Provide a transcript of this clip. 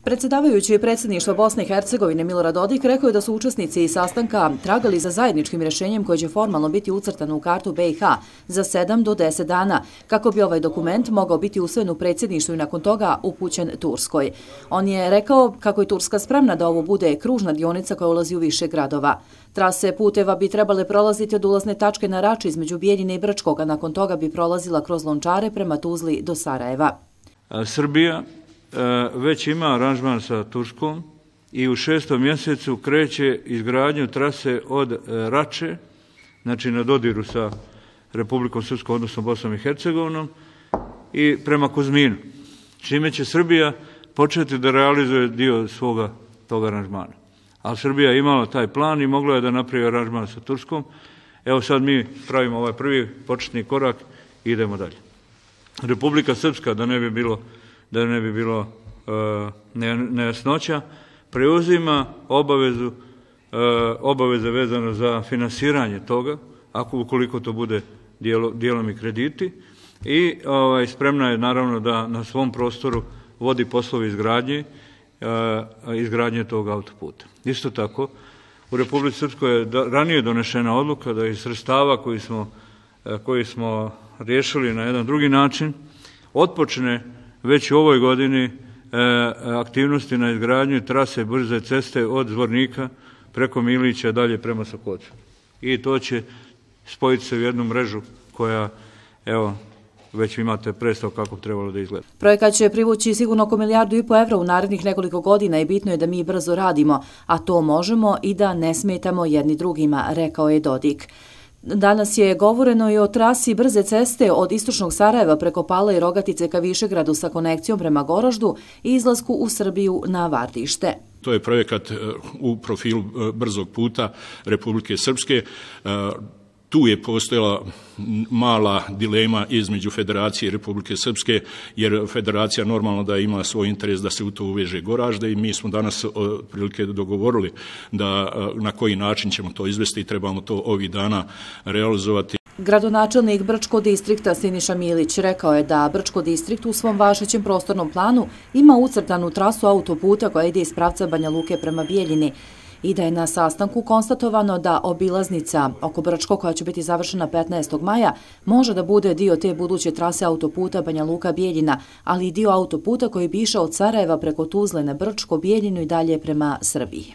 Predsjedavajući predsjedništva Bosne i Hercegovine Milorad Dodik rekao je da su učesnici sastanka tragali za zajedničkim rješenjem koje će formalno biti ucrtano u kartu BiH za 7 do 10 dana, kako bi ovaj dokument mogao biti usvojen u predsjedništvu i nakon toga upućen Turskoj. On je rekao kako je Turska spremna da ovo bude kružna dionica koja ulazi u više gradova. Trase puteva bi trebale prolaziti od ulazne tačke na Rači između Bijeljine i Brčkog, a nakon toga bi prolazila kroz Lončare prema Tuzli do Sarajeva. Srbija već ima aranžman sa Turskom i u 6. mjesecu kreće izgradnju trase od Rače, znači na dodiru sa Republikom Srpskom, odnosno Bosnom i Hercegovinom, i prema Kuzminu, čime će Srbija početi da realizuje dio svoga toga aranžmana. Ali Srbija je imala taj plan i mogla je da napravi aranžman sa Turskom. Evo sad mi pravimo ovaj prvi početni korak i idemo dalje. Republika Srpska, da ne bi bilo nejasnoća, preuzima obaveze vezano za finansiranje toga, ukoliko to bude dijelom i krediti, i spremna je naravno da na svom prostoru vodi poslove izgradnje tog autoputa. Isto tako, u Republici Srpskoj je ranije donešena odluka da iz sredstava koji smo riješili na jedan drugi način otpočne već u ovoj godini aktivnosti na izgradnju trase brze ceste od Zvornika preko Milića dalje prema Sokocu. I to će spojiti se u jednu mrežu koja, evo, već imate predstav kako bi trebalo da izgleda. Projekat će privući sigurno oko 1,5 milijardu evra u narednih nekoliko godina i bitno je da mi brzo radimo, a to možemo i da ne smetamo jedni drugima, rekao je Dodik. Danas je govoreno i o trasi brze ceste od istočnog Sarajeva preko Pale i Rogatice ka Višegradu sa konekcijom prema Goraždu i izlasku u Srbiju na Vardište. To je projekat u profilu brzog puta Republike Srpske. Tu je postojala mala dilema između Federacije i Republike Srpske, jer Federacija normalno da ima svoj interes da se u to uveže Goražde i mi smo danas prilike dogovorili da na koji način ćemo to izvesti i trebamo to ovih dana realizovati. Gradonačelnik Brčkog distrikta Siniša Milić rekao je da Brčko distrikt u svom važećem prostornom planu ima ucrtanu trasu autoputa koja ide iz pravca Banja Luke prema Bijeljini i da je na sastanku konstatovano da obilaznica oko Brčko, koja će biti završena 15. maja, može da bude dio te buduće trase autoputa Banja Luka-Bijeljina, ali i dio autoputa koji bi išao od Sarajeva preko Tuzle na Brčko, Bijeljinu i dalje prema Srbiji.